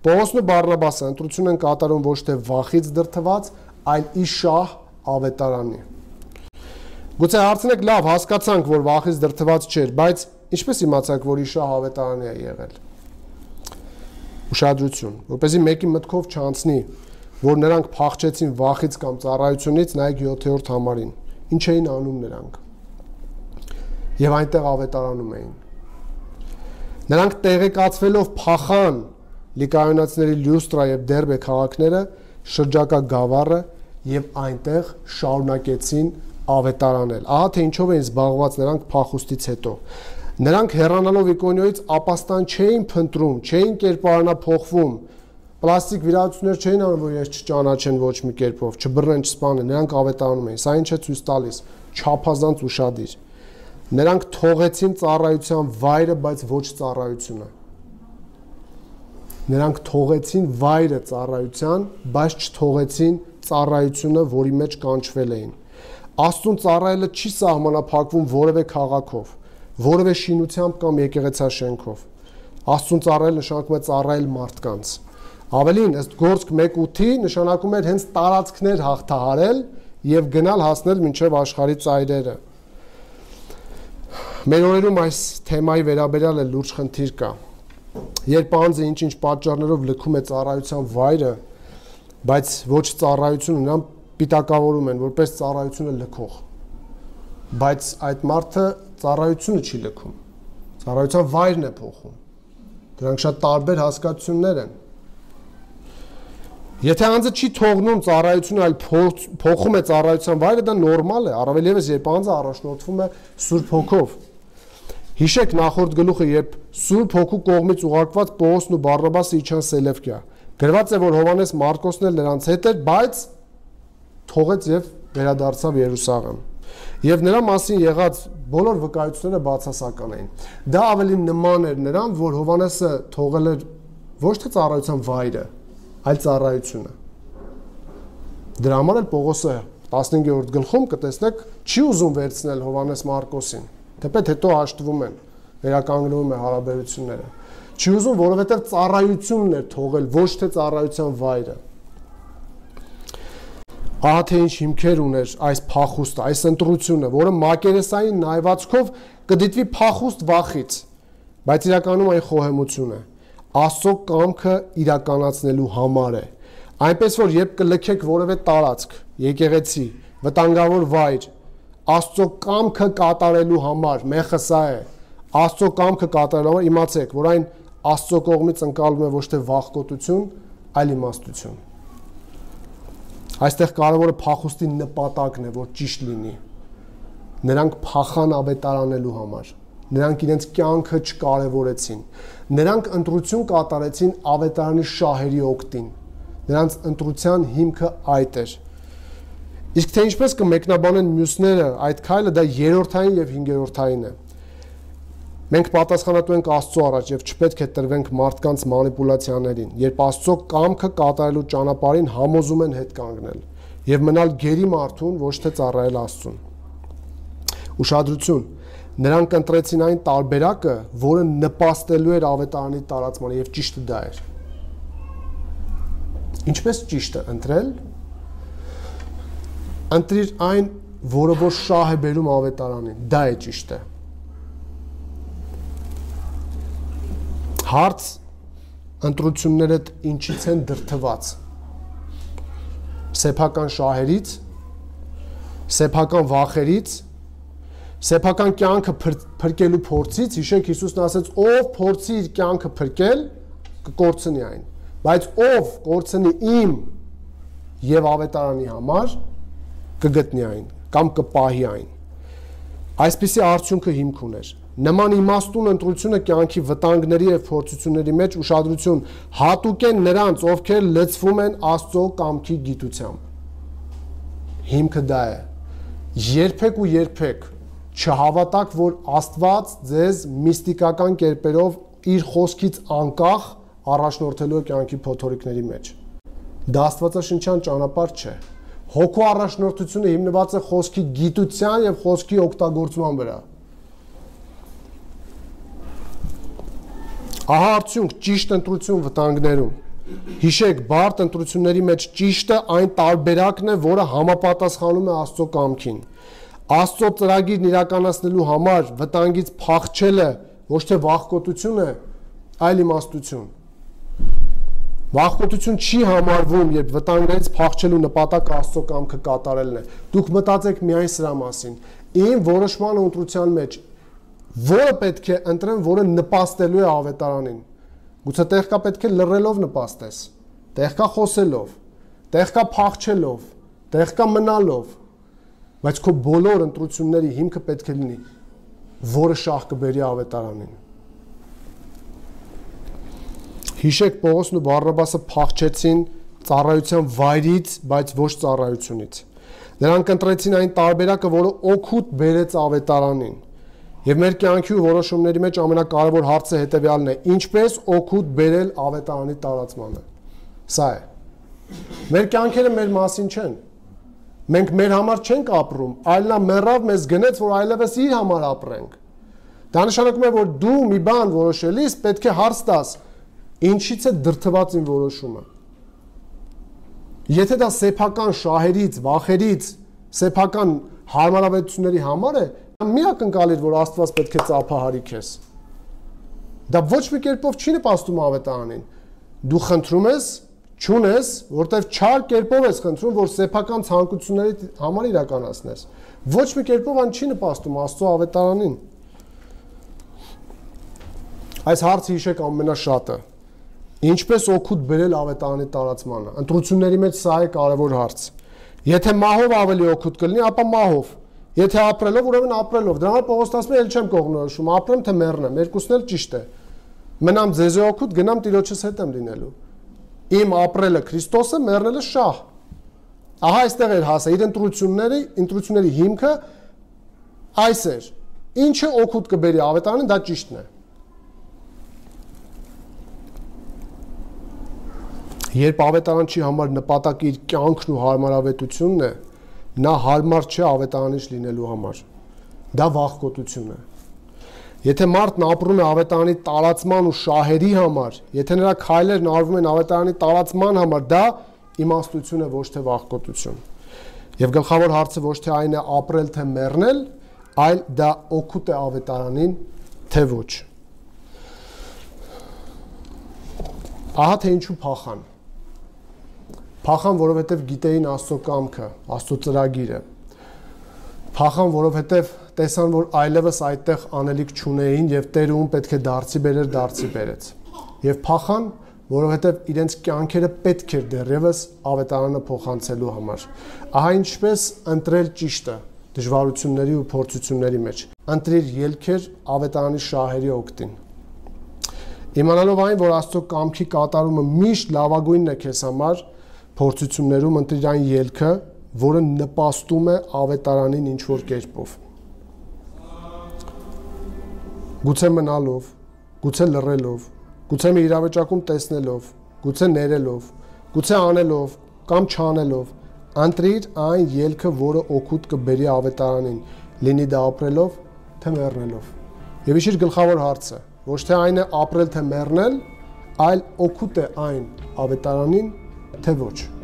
Պողոսն ու Բարնաբասը ընտրություն են կատարում ոչ թե վախից դրդված, այլ ի շահ ավետարանի։ Գուցե հարցնեք, լավ, հասկացանք, որ վախից դրդված չէր, բայց ինչպես իմացանք, որ ի շահ ավետարանի է եղել։ Ուշադրություն, որպեսզի մեկի մտքով չանցնի, որ նրանք փախչեցին վախից կամ ծառայությունից, նայեք 7-րդ համարին։ Ինչ էին անում նրանք։ Եվ այնտեղ ավետարանում էին։ Նրանք տեղեկացվելով փախան Լիկայոնացիների Լյուստրա եւ Դերբե քաղաքները, շրջակա Գավառը եւ այնտեղ շարունակեցին ավետարանել։ Ահա թե ինչով էին զբաղված նրանք փախուստից հետո։ Նրանք հեռանալով Իկոնիոյից ապաստան չէին փնտրում, չէին կերպարանափոխվում, պլաստիկ վիրահատություններ չէին անում, որ ես չճանաչեն ոչ մի կերպով, չբռնեն, չսպանեն, նրանք ավետարանում էին։ Սա ինչ է ցույց տալիս, չափազանց ուշադիր։ Նրանք թողեցին ծառայության վայրը, բայց ոչ ծառայությունը։ Նրանք թողեցին վայրը ծառայության, բայց չթողեցին ծառայությունը, որի մեջ կանչվել էին։ Աստծուն ծառայելը չի սահմանափակվում որևէ քաղաքով, որևէ շինությամբ կամ եկեղեցաշենքով։ Աստծուն ծառայել նշանակում է ծառայել մարդկանց։ Ավելին, ըստ Գործք 1:8-ի նշանակում էր հենց տարածքներ հաղթահարել եւ գնալ հասնել մինչեւ աշխարհի ծայրերը։ Մեր օրերում այս թեմայի վերաբերյալ է լուրջ խնդիր կա։ Երբ անձը ինչ-ինչ պատճառներով լքում է ծառայության վայրը, բայց ոչ ծառայությունը, նրան պիտակավորում են որպես ծառայությունը լքող։ Բայց այդ մարդը ծառայությունը չի լքում։ Ծառայության վայրն է փոխում։ Դրանք շատ տարբեր հասկացություններ են։ Եթե անձը չի թողնում ծառայությունը, այլ փոխում է ծառայության վայրը, դա նորմալ է, առավել ևս երբ անձը առաջնորդվում է Սուրբ Հոգով։ Հիշեք նախորդ գլուխը, երբ Սուրբ Հոգու կողմից ուղարկված Պողոսն ու Բարնաբասը իջան Սելևկիա։ Գրված է, որ Հովհաննես Մարկոսն էլ նրանց հետ էր, բայց թողեց եւ վերադարձավ Երուսաղեմ։ Եվ նրա մասին եղած բոլոր վկայությունները բացասական էին։ Դա ավելի նման էր նրան, որ Հովհաննեսը թողել էր ոչ թե ծառայության վայրը, այլ ծառայությունը։ Դրա համար էլ Պողոսը 15-րդ գլխում կտեսնեք չի ուզում վերցնել Հովհաննես Մարկոսին, թեպետ հետո հաշտվում են, վերականգնվում է հարաբերությունները։ Չի ուզում, որովհետև ծառայությունն էր թողել, ոչ թե ծառայության վայրը։ Ահա թե ինչ հիմքեր ուներ այս փախուստը, այս ընտրությունը, որը մակերեսային նայվածքով կդիտվի փախուստ վախից, բայց իրականում այն խոհեմություն է։ Աստծո կամքը իրականացնելու համար է։ Այնպես որ երբ կլքեք որևէ տարածք, եկեղեցի, վտանգավոր վայր, Աստծո կամքը կատարելու համար, մեղքը սա է։ Աստծո կամքը կատարելու համար իմացեք, որ այն Աստծո կողմից ընկալվում է ոչ թե վախկոտություն, այլ իմաստություն։ Այստեղ կարևորը փախուստի նպատակն է, որ ճիշտ լինի։ Նրանք փախան ավետարանելու համար։ Նրանք իրենց կյանքը չկարևորեցին։ Նրանք ընտրություն կատարեցին ավետարանի շահերի օգտին։ Նրանց ընտրության հիմքը այդ էր։ Իսկ թե ինչպես կմեկնաբանեն մյուսները, այդ քայլը դա երրորդային եւ հինգերորդային է։ Մենք պատասխանատու ենք Աստծո առաջ եւ չպետք է տրվենք մարդկանց մանիպուլյացիաներին, երբ Աստծո կամքը կատարելու ճանապարհին համոզում են հետ կանգնել եւ մնալ գերի մարդուն, ոչ թե ծառայել Աստծուն։ Ուշադրություն, նրանք ընտրեցին այն տարբերակը, որը նպաստելու էր ավետարանի տարածմանը եւ ճիշտը դա էր։ Ինչպես ճիշտը ընտրել։ Ընտրիր այն, որը որ շահ է բերում ավետարանին, դա է ճիշտը։ Հարց ընտրություններդ ինչից են դրդված։ Սեփական շահերից, սեփական վախերից, սեփական կյանքը փրկելու փորձից, հիշեք Հիսուսն ասաց, ով փորձի իր կյանքը փրկել, կկորցնի այն, բայց ով կորցնի իմ եւ ավետարանի համար, կգտնի այն կամ կպահի այն։ Այսպիսի արդյունքը հիմք ուներ։ Նման իմաստուն ընտրությունը կյանքի վտանգների եւ փորձությունների մեջ ուշադրություն հատուկեն նրանց, ովքեր լցվում են Աստծո կամքի գիտությամբ։ Հիմքը դա է։ Երբեք ու երբեք չհավատաք, որ Աստված ձեզ միստիկական կերպերով իր խոսքից անկախ առաջնորդելու է կյանքի փոթորիկների մեջ։ Դա աստվածաշնչյան ճանապարհ չէ։ Հոգու առաջնորդությունը հիմնված է խոսքի գիտության եւ խոսքի օգտագործման վրա։ Ահա արդյունք ճիշտ ընտրություն վտանգներում։ Հիշեք, բարդ ընտրությունների մեջ ճիշտը այն տարբերակն է, որը համապատասխանում է Աստծո կամքին։ Աստծո ծրագիրն իրականացնելու համար վտանգից փախչելը ոչ թե վախկոտություն է, այլ իմաստություն։ Վախկոտություն չի համարվում, երբ վտանգներից փախչելու նպատակը Աստծո կամքը կատարելն է։ Դուք մտածեք միայն սրա մասին։ Իմ որոշման ու ընտրության մեջ որը պետք է ընտրեմ, որը նպաստելու է ավետարանին։ Գուցե տեղ կա պետք է լռելով նպաստես, տեղ կա խոսելով, տեղ կա փախչելով, տեղ կա մնալով, բայց քո բոլոր ընտրությունների հիմքը պետք է լինի, որը շահ կբերի ավետարանին։ Հիշեք, Պողոսն ու Բարնաբասը փախչեցին ծառայության վայրից, բայց ոչ ծառայությունից։ Նրանք ընտրեցին այն տարբերակը, որը օգուտ բերեց ավետարանին։ Եվ մեր կյանքի ու որոշումների մեջ ամենակարևոր հարցը հետևյալն է. ինչպես օգուտ բերել ավետարանի տարածմանը։ Սա է։ Մեր կյանքերը մեր մասին չեն։ Մենք մեր համար չենք ապրում, այլ նա մեռավ մեզ գնեց, որ այլևս իր համար ապրենք։ Դա նշանակում է, որ դու մի բան որոշելիս պետք է հարց տաս. ինչից է դրդված իմ որոշումը։ Եթե դա սեփական շահերից, վախերից, սեփական հարմարավետությունների համար է, մի ակնկալիր, որ Աստված պետք է ծափահարի քեզ։ Դա ոչ մի կերպով չի նպաստում ավետարանին։ Դու խնդրում ես, չունես, որտեվ չար կերպով ես խնդրում, որ սեփական ցանկությունների համար իրականացնես։ Ոչ մի կերպով այն չի նպաստում Աստծո ավետարանին։ Այս հարցը հիշեք ամենաշատը։ Ինչպես օգուտ բերել ավետարանի տարածմանը։ Ընտրությունների մեջ սա է կարևոր հարց։ Եթե մահով ավելի օգուտ կլինի, ապա մահով։ Եթե ապրելով, ուրեմն ապրելով։ Դրա համար Պողոս ասում է, ել չեմ կողմնորոշում, ապրեմ թե մեռնեմ, երկուսն էլ ճիշտ է։ Մնամ ձեզ օգուտ, գնամ Տիրոջս հետ եմ լինելու։ Իմ ապրելը Քրիստոսը, մեռնելը շահ։ Ահա այստեղ էր հասա իր ընտրությունների հիմքը այս էր։ Ինչը օգուտ կբերի ավետարանին, դա ճիշտն է։ Երբ ավետարանչի համար նպատակը իր կյանքն ու հարմարավետությունն է, նա հարմար չէ ավետարանիչ լինելու համար։ Դա վախկոտություն է։ Եթե մարդն ապրում է ավետարանի տարածման ու շահերի համար, եթե նրա քայլերն արվում են ավետարանի տարածման համար, դա իմաստություն է, ոչ թե վախկոտություն։ Եվ գլխավոր հարցը ոչ թե այն է ապրել թե մեռնել, այլ դա օգուտ է ավետարանին, թե ոչ։ Ահա թե ինչու փախան։ Փախան, որովհետև գիտեին Աստծո կամքը, Աստծո ծրագիրը։ Փախան, որովհետև տեսան, որ այլևս այդտեղ անելիք չունեին եւ Տերը ում պետք է դարձի բերեր, դարձի բերեց։ Եվ փախան, որովհետև իրենց կյանքերը պետք էր դեռևս ավետարանը փոխանցելու համար։ Ահա ինչպես ընտրել ճիշտը դժվարությունների ու փորձությունների մեջ։ Ընտրիր ելքեր ավետարանի շահերի օգտին։ Իմանալով այն, որ Աստծո կամքի կատարումը միշտ լավագույնն է քեզ համար, փորձություններում ընտրիր այն ելքը, որը նպաստում է ավետարանին ինչ-որ կերպով։ Գուցե մնալով, գուցե լռելով, գուցե մի իրավիճակում տեսնելով, գուցե ներելով, գուցե անելով կամ չանելով, ընտրիր այն ելքը, որը օգուտ կբերի ավետարանին, լինի դա ապրելով, թե մեռնելով։ Եվ իշիր գլխավոր հարցը, ոչ թե այն է ապրել թե մեռնել, այլ օգուտ է այն ավետարանին, թե ոչ։